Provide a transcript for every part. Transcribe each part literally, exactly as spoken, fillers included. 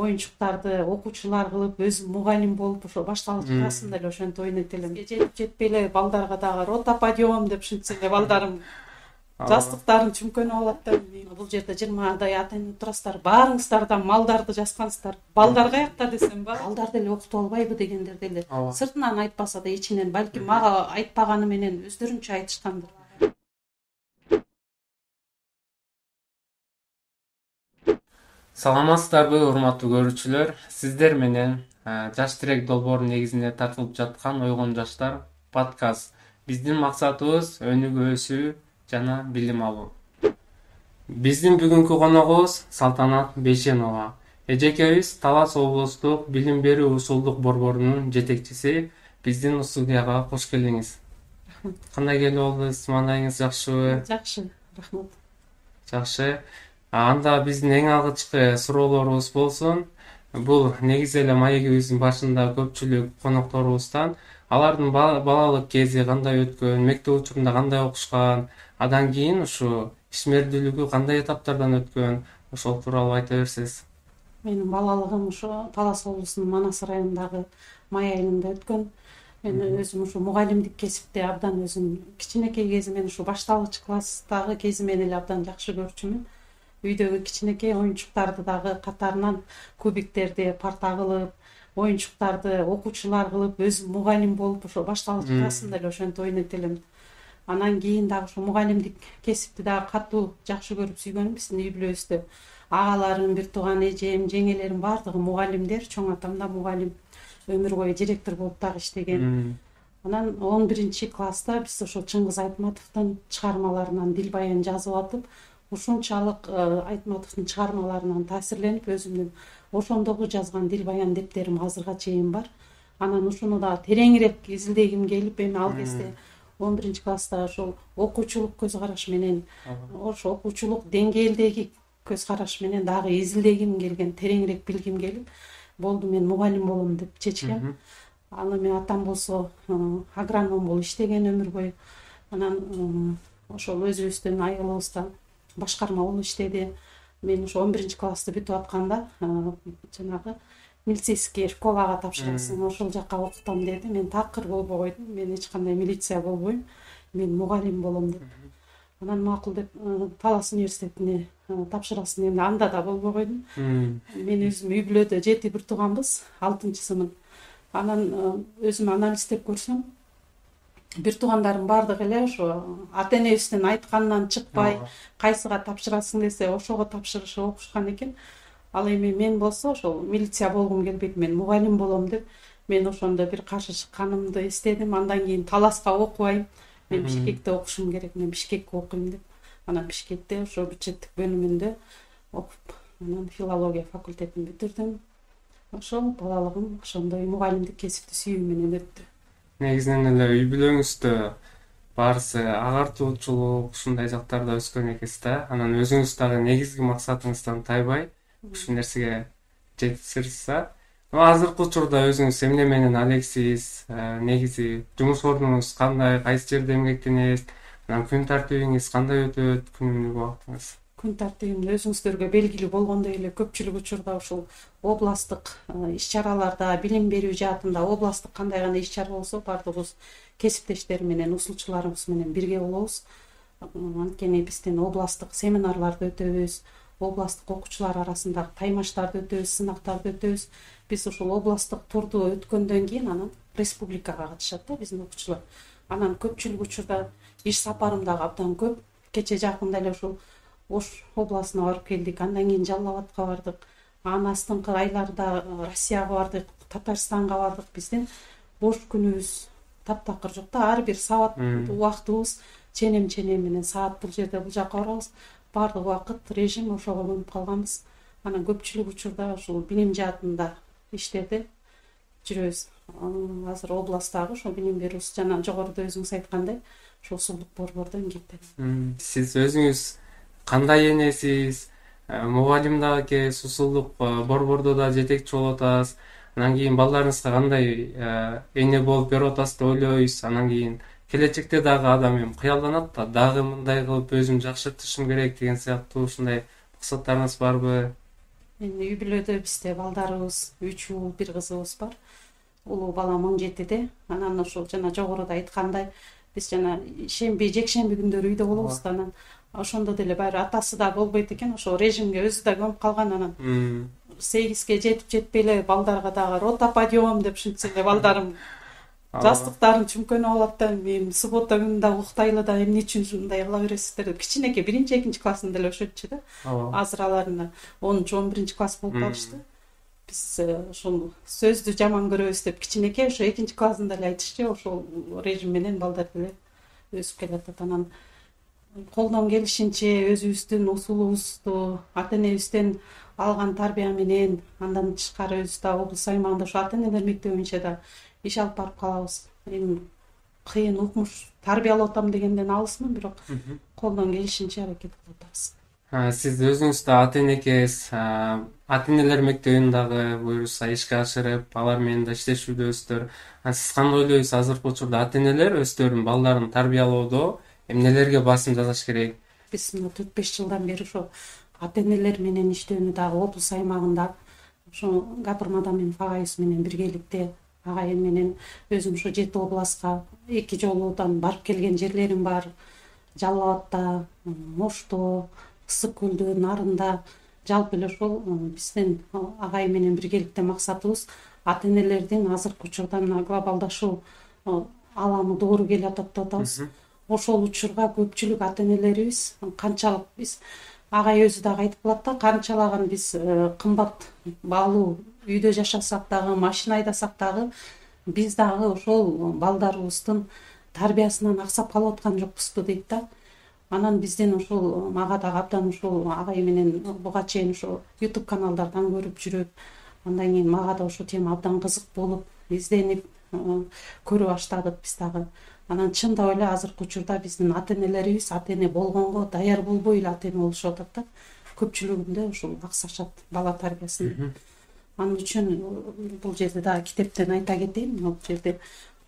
оюнчуктарды окуучулар кылып, өзүм мугалим болуп ошо башталык классында эле ошентип ойнойт элем. Жетип жетпей эле балдарга дагы рота подъем деп ушинтсе эле балдарым жастыктарын чүмкөнүп алат да. Бул жерде жыйырмадай ата эне турасыздар, баарыңыздардан малдарды жазгансыздар. Балдар каякта десем, балдарды эле окутуп албайбы дегендерди эле сыртынан айтпаса да ичинен, балким мага айтпаганы менен өздөрүнчө айтышкандыр. Саламатсыздарбы, урматтуу көрүүчүлөр? Сиздер менен Жаш тирек долбоору негизинде тартылып жаткан Ойгон жаштар подкаст. Биздин максатыбыз өнүгүү, өсүү жана билим алуу. Биздин бүгүнкү коногубуз Салтанат Бейшенова. Эжекебиз Талас облустук билим берүү усулдук борборунун жетекчиси. Биздин студияга кош келдиңиз. Кандай келип болдуңуз? Маанайыңыз жакшыбы? Жакшы, рахмат. Жакшы. Анда биздин эң алгачкы суроолорубуз болсун. Бул негизи эле маегибиздин башында көпчүлүк конокторубуздан алардын балалык кези кандай өткөн, мектеп учурунда кандай окушкан, андан кийин ушу ишмердүүлүгү кандай этаптардан өткөн, ошол тууралуу айта берсеңиз. Менин балалыгым ушу Талас облусунун Манас районундагы май айылында өткөн. Мен өзүм ушу мугалимдик кесипти абдан өзүм кичинекей кезимен ушу башталгыч класстагы кезимен эле абдан жакшы көрчүмүн. Үйдөгү кичинекей оюнчуктарды дагы катарынан кубиктерди парта кылып, оюнчуктарды окуучулар кылып, өзүм мугалим болуп ошо башталгыч классында эле ошентип ойнойт элем. Анан кийин дагы ушу мугалимдик кесипти дагы катуу жакшы көрүп сүйгөнүм. Биздин үй бүлөбүздө агаларым, бир тууган эжем, жеңелерим баардыгы мугалимдер, чоң атам да мугалим, өмүр бою директор болуп дагы иштеген. Анан он биринчи класста биз ошо Чыңгыз Айтматовдун чыгармаларынан дил баян жазып атып, ушунчалык Айтматовдун чыгармаларынан таасирленип, өзүмдүн ошондогу жазган дил баян дептерим азырга чейин бар. Анан ушуну да тереңирээк изилдегим келип, эми ал кезде он биринчи класста ошол окуучулук көз караш менен, ошо окуучулук деңгээлдеги көз караш менен дагы изилдегим келген, тереңирээк билгим келип, болду мен мугалим болом деп чечкем. Аны мен атам болсо агроном болуп иштеген өмүр бою. Анан ошол өзүбүздүн айылыбызда башкарма болуп иштеди. Мен ошо он биринчи классты бүтүп атканда жанагы милицейский школага тапшырасың, ошол жакка окутам деди. Мен такыр болбой койдум. Мен эч кандай милиция болбойм. Мен мугалим болом деп. Анан макул деп Талас университетине тапшырасың дегенде анда да болбой койдум. Мен өзүм үй бүлөдө жети бир тууганбыз, алтынчысымын. Анан өзүм анализдеп көрсөм, бир туугандарым баардыгы эле ошо ата энебиздин айтканынан чыкпай, кайсыга тапшырасың десе ошого тапшырышып окушкан экен. Ал эми мен болсо ошол милиция болгум келбейт, мен мугалим болом деп, мен ошондо бир каршы чыкканымды эстедим. Андан кийин Таласка окубайм, мен Бишкекте окушум керек, мен Бишкекке окуйм деп. Анан Бишкекте ошо бюджеттик бөлүмүндө окуп, анан филология факультетин бүтүрдүм. Ошол балалыгым ошондой мугалимдик кесипти сүйүү менен өттү. Негизинен эле үй бүлөңүздө баарысы агартуучулук ушундай жактарда өскөн экенсиз да. Анан өзүңүз дагы негизги максатыңыздан тайбай ушул нерсеге жетишсиз. Азыркы учурда өзүңүз эмне менен алексиз? Негизи жумуш ордуңуз кандай, кайсы жерде эмгектенесиз? Анан күн тартибиңиз кандай өтөт, күнүмдүк убактыңыз? Күн тартибим өзүңүздөргө белгилүү болгондой эле көпчүлүк учурда ушул областтык иш-чараларда, билим берүү жаатында областтык кандай гана иш-чара болсо баардыгыбыз кесиптештер менен, усулчуларыбыз менен бирге болобуз. Анткени биздин областтык семинарларды өтөбүз, областтык окуучулар арасындагы таймаштарды өтөбүз, сынактарды өтөбүз. Биз ушул областтык турду өткөндөн кийин анан республикага катышат да биздин окуучулар. Анан көпчүлүк учурда иш сапарым дагы абдан көп. Кече жакында эле ушул Ош областына барып келдик, андан кийин Жалал Абадка бардык. Анан астыңкы айларда Россияга бардык, Татарстанга бардык. Биздин бош күнүбүз таптакыр жок да, ар бир саат убактыбыз ченем-ченем менен саат бул жерде бул жака барабыз. Баардык убакыт режим ошого өнүп калганбыз. Анан көпчүлүк учурда ушул билим жаатында иштерде жүрөбүз. Азыр областтагы ошо билим берүү жана жогоруда өзүңүз айткандай ошол усулдук борбордо эмгектенем. Сиз өзүңүз кандай энесиз? Мугалим дагы экенсиз, усулдук борбордо да жетекчи болуп атасыз. Анан кийин балдарыңызга кандай эне болуп берип атасыз деп ойлойсуз. Анан кийин келечекте дагы адам эми кыялданат да, дагы мындай кылып өзүм жакшыртышым керек деген сыяктуу ушундай максаттарыңыз барбы? Эми үй бүлөдө бизде балдарыбыз үч уул, бир кызыбыз бар. Улуу балам он жетиде. Анан ошол жана жогоруда айткандай биз жана шемби, жекшемби күндөрү үйдө болобуз да, анан ошондо деле баары атасы да болбойт экен, ошол режимге өзү да көмүп калган. Анан сегизге жетип жетпей эле балдарга дагы рота подъем деп ушинтсе эле балдарым жастыктарын чүмкөнүп алат да, мен суббота күнү да уктайлы да, эмне үчүн мындай кыла бересиздер деп. Кичинекей биринчи, экинчи классында эле өшөтчү да. Азыр аларына онунчу, он биринчи класс болуп калышты. Биз ошол сөздү жаман көрөбүз деп кичинекей ошо экинчи классында эле айтышчу, ошол режим менен балдар деле өсүп келатат. Анан колдон келишинче өзүбүздүн усулубузду, ата энебизден алган тарбия менен, андан тышкары өзүбүз да облус аймагында ошо ата энелер мектеби боюнча да иш алып барып калабыз. Эми кыйын укмуш тарбиялап атам дегенден алысмын, бирок колдон келишинче аракет кылып атабыз. Сиз өзүңүз да ата эне экенсиз, ата энелер мектебин дагы буюрса ишке ашырып, алар менен да иштешүүдөсүздөр. Сиз кандай ойлойсуз, азыркы учурда ата энелер өздөрүнүн балдарын тарбиялоодо эмнелерге басым жасаш керек? Биз мына төрт беш жылдан бери ошо ата энелер менен иштөөнү дагы облус аймагында ошо Гапыр Мадаминов агайыбыз менен биргеликте, агайым менен өзүм ошо жети областка эки жолудан барып келген жерлерим бар. Жалал Абадта, Ошто, Ысык көлдө, Нарында. Жалпы эле ошол биздин агайым менен биргеликте максатыбыз ата энелердин азыркы учурда мына глобалдашуу аламы доору келе атат деп атабыз. Ошол учурга көпчүлүк ата энелерибиз канчалык, биз агай өзү дагы айтып калат да, канчалаган биз кымбат баалуу үйдө жашасак дагы, машина айдасак дагы, биз дагы ошол балдарыбыздын тарбиясынан аксап калып аткан жокпузбу дейт да. Анан бизден ошол мага дагы абдан ошол агай менен буга чейин ошо YouTube каналдардан көрүп жүрүп, андан кийин мага да ошол тема абдан кызык болуп, изденип көрө баштадык биз дагы. Анан чындап эле азыркы учурда биздин ата энелерибиз ата эне болгонго даяр болбой эле ата эне болушуп атат да. Көпчүлүгүндө ушул аксашат бала тарбиясын. Анын үчүн бул жерде дагы китептен айта кетейин, бул жерде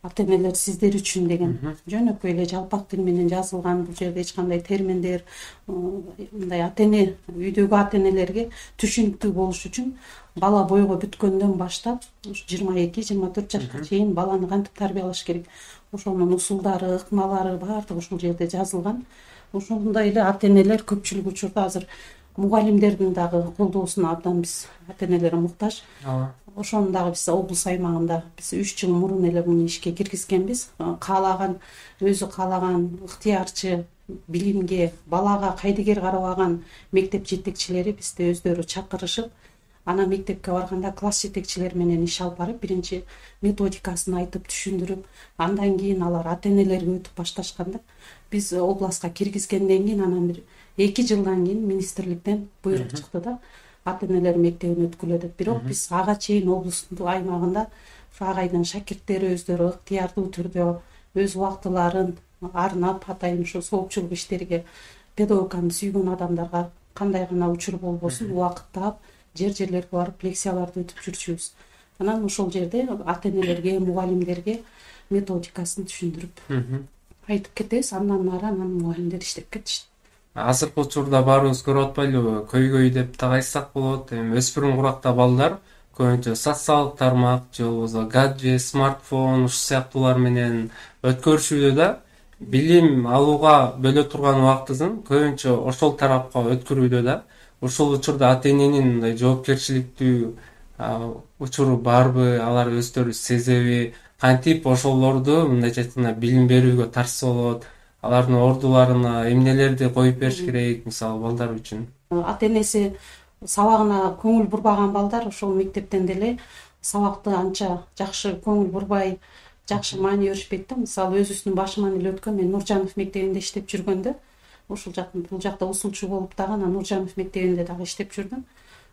ата энелер сиздер үчүн деген жөнөкөй эле жалпак тил менен жазылган. Бул жерде эч кандай терминдер, мындай ата эне, үйдөгү ата энелерге түшүнүктүү болуш үчүн бала бойго бүткөндөн баштап жыйырма эки жыйырма төрт жашка чейин баланы кантип тарбиялаш керек, ошонун усулдары, ыкмалары баардыгы ушул жерде жазылган. Ошондой эле ата энелер көпчүлүк учурда азыр мугалимдердин дагы колдоосуна абдан биз ата энелер муктаж. Ошону дагы биз облус аймагында биз үч жыл мурун эле муну ишке киргизгенбиз. Каалаган, өзү каалаган ыктыярчы, билимге, балага кайдыгер карабаган мектеп жетекчилери бизди өздөрү чакырышып, ана мектепке барганда класс жетекчилери менен иш алып барып, биринчи методикасын айтып, түшүндүрүп, андан кийин алар ата энелерге өтүп башташканда, биз областка киргизгенден кийин анан бир эки жылдан кийин министрликтен буйрук чыкты да, ата энелер мектебине өткүлө деп. Бирок биз ага чейин облустун аймагында агайдын шакирттери өздөрү ыктыярдуу түрдө өз убактыларын арнап, атайын ушу соопчулук иштериге, педагогиканы сүйгөн адамдарга кандай гана учур болбосун убакыт таап, жер-жерлерге барып лекцияларды өтүп жүрчүбүз. Анан ошол жерде ата энелерге, мугалимдерге методикасын түшүндүрүп айтып кетебиз. Андан ары анан мугалимдер иштеп кетишти. Азыркы учурда баарыбыз көрүп атпайлыбы, көйгөй деп так айтсак болот. Эми өспүрүм куракта балдар көбүнчө социалдык тармак же болбосо гаджет, смартфон ушул сыяктуулар менен өткөрүшүүдө да, билим алууга бөлө турган убактысын көбүнчө ошол тарапка өткөрүүдө да. Ушул учурда ата эненин мындай жоопкерчиликтүү учуру барбы, алар өздөрү сезеби, кантип ошолорду мындайча айтканда билим берүүгө тартса болот, алардын ордуларына эмнелерди коюп бериш керек, мисалы балдар үчүн? Ата энеси сабагына көңүл бурбаган балдар ошол мектептен деле сабакты анча жакшы көңүл бурбай, жакшы маани беришпейт да. Мисалы өзүбүздүн башыман эле өткөн, мен Нуржанов мектебинде иштеп жүргөндө, ошол жактын бул жакта усулчу болуп дагы анан Нуржанов мектебинде дагы иштеп жүрдүм.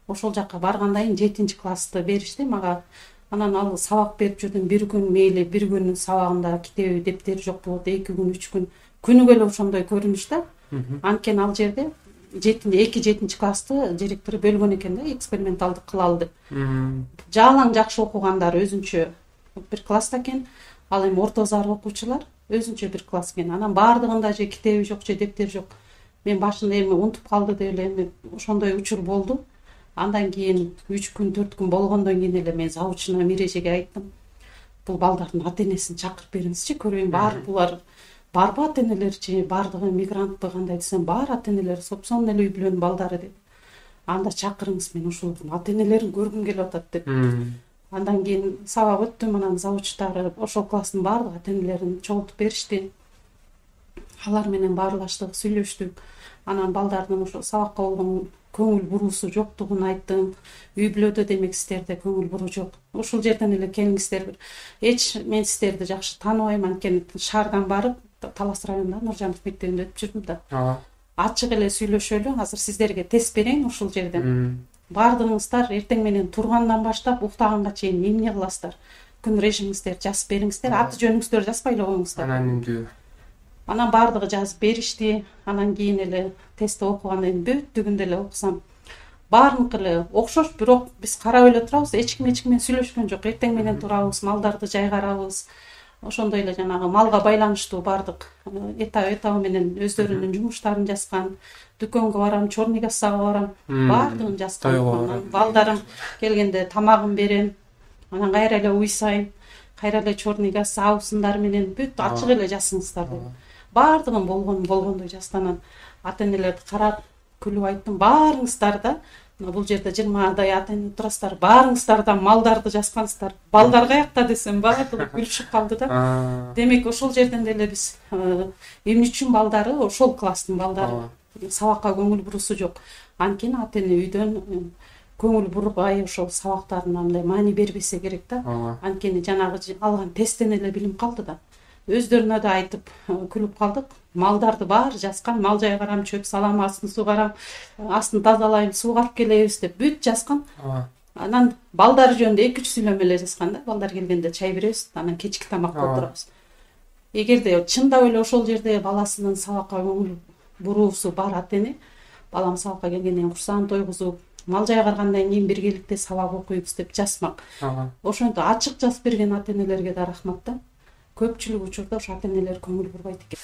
Ошол жакка баргандан кийин жетинчи классты беришти мага. Анан ал сабак берип жүрдүм. Бир күн мейли, бир күн сабагында китеби, дептери жок болот, эки күн, үч күн күнүгө эле ошондой көрүнүш да. Анткени ал жерде эки жетинчи классты директору бөлгөн экен да, эксперименталдык кылалы деп. Жалаң жакшы окугандар өзүнчө бир класста экен, ал эми орто зарыл окуучулар өзүнчө бир класс экен. Анан баардыгында же китеби жок, же дептери жок. Мен башында эми унутуп калды деп эле эми ошондой учур болду. Андан кийин үч күн төрт күн болгондон кийин эле мен завучуна Мирежеге айттым, бул балдардын ата энесин чакырып бериңизчи, көрөйүн баары булар барбы ата энелерчи, баардыгы мигрантпы кандай десем, баары ата энелери сопсон эле үй бүлөнүн балдары деп. Анда чакырыңыз, мен ушулардын ата энелерин көргүм келип атат деп. Андан кийин сабак өттү, анан завучтары ошол класстын баардык ата энелерин чогултуп беришти. Алар менен баарлаштык, сүйлөштүк. Анан балдардын ошо сабакка болгон көңүл буруусу жоктугун айттым. Үй бүлөдө демек сиздерде көңүл буруу жок. Ушул жерден эле келиңиздер. Эч мен сиздерди жакшы тааныбайм, анткени шаардан барып Талас районунда Нуржанов мектебинде өтүп жүрдүм да. Ачык эле сүйлөшөлү, азыр сиздерге тест берейин ушул жерден. Баардыгыңыздар эртең менен тургандан баштап уктаганга чейин эмне кыласыздар? Күн режимиңиздерди жазып бериңиздер, аты жөнүңүздөрдү жазбай эле коюңуздар. Анонимдүү. Анан баардыгы жазып беришти. Анан кийин эле тестти окугандан кийин бүттүгүндө эле окусам, баарыныкы эле окшош, бирок биз карап эле турабыз, эч ким эч ким менен сүйлөшкөн жок. Эртең менен турабыз, малдарды жайгарабыз. Ошондой эле жанагы малга байланыштуу баардык этап этабы менен өздөрүнүн жумуштарын жазган. Дүкөнгө барам, чорный кассага барам, баардыгын жазган. Балдарым келгенде тамагын берем, анан кайра эле уйсайм, кайра эле чорный касса абысындары менен бүт ачык эле жазыңыздар деп. Баардыгын болгон болгондой жазганан ата энелерди карап күлүп айттым, баарыңыздар да бул жерде жыйырмадай ата эне турасыздар, баарыңыздар да малдарды жазгансыздар. Балдар каякта десем, баардыгы күлүшүп калды да. Демек ошол жерден деле биз эмне үчүн балдары, ошол класстын балдары сабакка көңүл буруусу жок. Анткени ата эне үйдөн көңүл бурбай ошол сабактарына мындай маани бербесе керек да. Анткени жанагы алган тесттен эле билим калды да. Өздөрүнө да айтып күлүп калдык. Малдарды баары жазган, мал жайгарам, чөп салам, астын сугарам, астын тазалайм, суугарып келебиз деп бүт жазган. Анан балдар жөнүндө эки үч сүйлөмө эле жазган да. Балдар келгенде чай беребиз, анан кечки тамакка отурабыз. Эгерде чындап эле ошол жерде баласынын сабакка көңүл буруусу бар ата эне, балам сабакка келгенден кийин курсагын тойгузуп, мал жайгаргандан кийин биргеликте сабак окуйбуз деп жазмак. Ошентип ачык жазып берген ата энелерге да рахмат да. Көпчүлүк учурда ошо ата энелер көңүл бурбайт экен.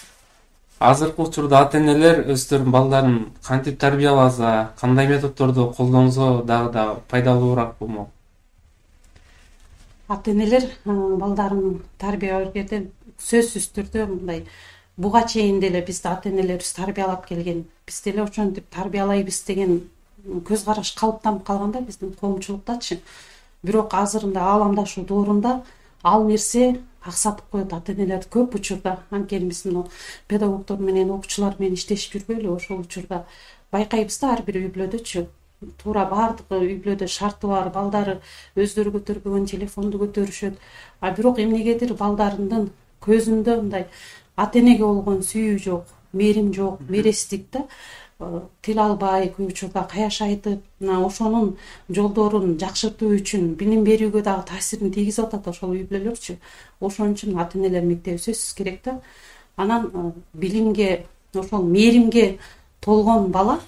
Азыркы учурда ата энелер өздөрүнүн балдарын кантип тарбияласа, кандай методдорду колдонсо дагы да пайдалуураак болмок? Ата энелер балдарын тарбиялagерде сөзсүз түрдө мындай буга чейин деле бизди ата энелерибиз тарбиялап келген, биз деле ошентип тарбиялайбыз деген көз караш калыптанып калганда биздин коомчулуктачы. Бирок азырында ааламдашуу доорунда ал нерсе аксатып коет ата энелерди көп учурда. Анткени биздин педагогдор менен окуучулар менен иштешип жүрбөйлү, ошол учурда байкайбыз да ар бир үй бүлөдөчү. Туура баардык үй бүлөдө шарты бар, балдары өздөрү көтөрбөгөн телефонду көтөрүшөт. А бирок эмнегедир балдарынын көзүндө мындай ата энеге болгон сүйүү жок, мээрим жок, мээрестик да. Тил албай, көп учурда каяш айтып, ошонун жолдорун жакшыртуу үчүн билим берүүгө дагы таасирин тийгизип атат ошол үй бүлөлөрчү. Ошон үчүн ата энелер мектеби сөзсүз керек да. Анан билимге, ошол мээримге толгон бала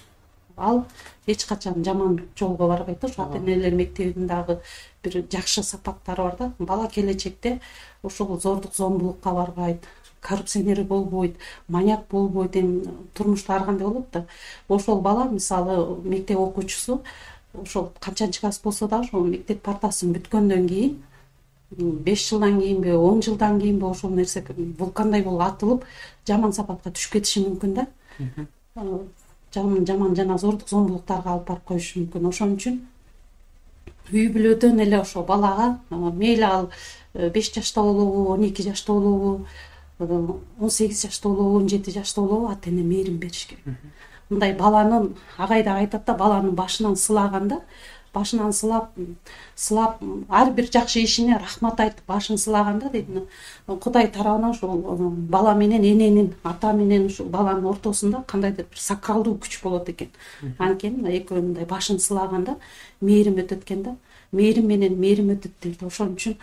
ал эч качан жаман жолго барбайт да. Ошо ата энелер мектебинин дагы бир жакшы сапаттары бар да. Бала келечекте ошол зордук зомбулукка барбайт, коррупционер болбойт, маньяк болбойт, эми турмушта ар кандай болот да. Ошол бала мисалы мектеп окуучусу ошол канчанчы класс болсо да ошол мектеп партасын бүткөндөн кийин беш жылдан кийинби, он жылдан кийинби ошол нерсе вулкандай болуп атылып, жаман сапатка түшүп кетиши мүмкүн да. Жаман жаман жана зордук зомбулуктарга алып барып коюшу мүмкүн. Ошон үчүн үй бүлөдөн эле ошо балага мейли ал беш жашта болобу, он эки жашта болобу, он сегиз жашта болобу, он жети жашта болобу ата эне мээрим бериш керек. Мындай баланын агайда айтат да, баланын башынан сылаганда, башынан сылап, сылап ар бир жакшы ишине рахмат айтып башын сылаганда дейт, Кудай тарабынан ошол бала менен эненин, ата менен ушул баланын ортосунда кандайдыр бир сакралдуу күч болот экен. Анткени экөө мындай башын сылаганда мээрим өтөт экен да. Мээрим менен мээрим өтөт дейт. Ошон үчүн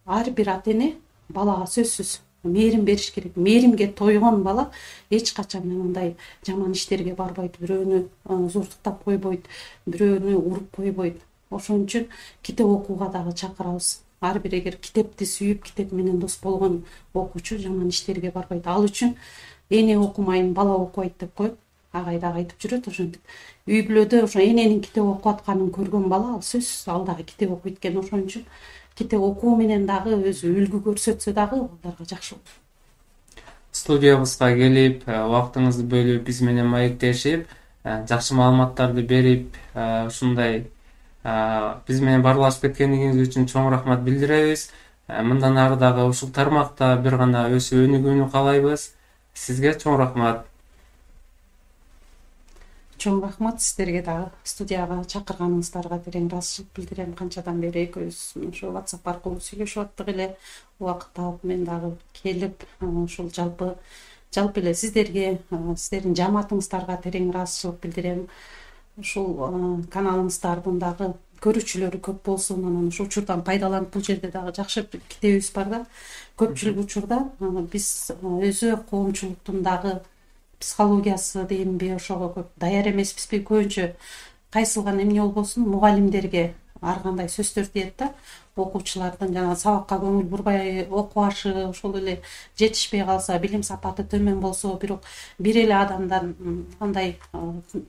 ар бир ата эне балага сөзсүз мээрим бериш керек. Мээримге тойгон бала эч качан мындай жаман иштерге барбайт, бирөөнү зуртуктап койбойт, бирөөнү уруп койбойт. Ошон үчүн китеп окууга дагы чакырабыз. Ар бир эгер китепти сүйүп, китеп менен дос болгон окуучу жаман иштерге барбайт. Ал үчүн эне окумайм, бала окубайт деп коюп, агай дагы айтып жүрөт, ошентип үй бүлөдө ошо эненин китеп окуп атканын көргөн бала ал сөзсүз ал дагы китеп окуйт экен. Ошон үчүн китеп окуу менен дагы өзү үлгү көрсөтсө дагы балдарга жакшы болот. Студиябызга келип, убактыңызды бөлүп, биз менен маектешип, жакшы маалыматтарды берип, ушундай биз менен баарлашып кеткениңиз үчүн чоң рахмат билдиребиз. Мындан ары дагы ушул тармакта бир гана өсүп өнүгүүнү каалайбыз. Сизге чоң рахмат. Чоң рахмат сиздерге дагы. Студияга чакырганыңыздарга терең ыраазычылык билдирем. Канчадан бери экөөбүз ошо WhatsApp аркылуу сүйлөшүп аттык эле. Убакыт таап мен дагы келип, ушул жалпы жалпы эле сиздерге, сиздердин жамаатыңыздарга терең ыраазычылык билдирем. Ушул каналыңыздардын дагы көрүүчүлөрү көп болсун, анан ушул учурдан пайдаланып, бул жерде дагы жакшы китебибиз бар да. Көпчүлүк учурда биз өзү коомчулуктун дагы психологиясы дейинби, ошого көп даяр эмеспизби? Көбүнчө кайсылган эмне болбосун мугалимдерге ар кандай сөздөр тиет да. Окуучулардын жана сабакка көңүл бурбай окубашы, ошол эле жетишпей калса, билим сапаты төмөн болсо, бирок бир эле адамдан андай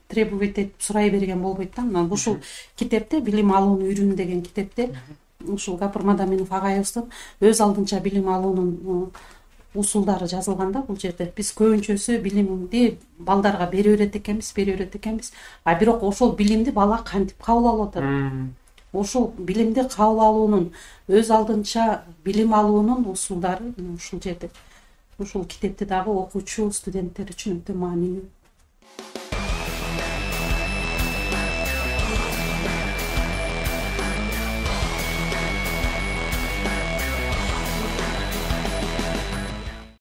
требовать этип сурай берген болбойт да. Анан ушул китепте билим алууну үйрүн деген китепте ушул Гапыр Мадаминов агайыбыздын өз алдынча билим алуунун усулдары жазылган да. Бул жерде биз көбүнчөсү билимди балдарга бере берет экенбиз, бере берет экенбиз, а бирок ошол билимди бала кантип кабыл алып атат? Ошол билимди кабыл алуунун өз алдынча билим алуунун усулдары ушул жерде. Ушул китепти дагы окуучу студенттер үчүн өтө маанилүү.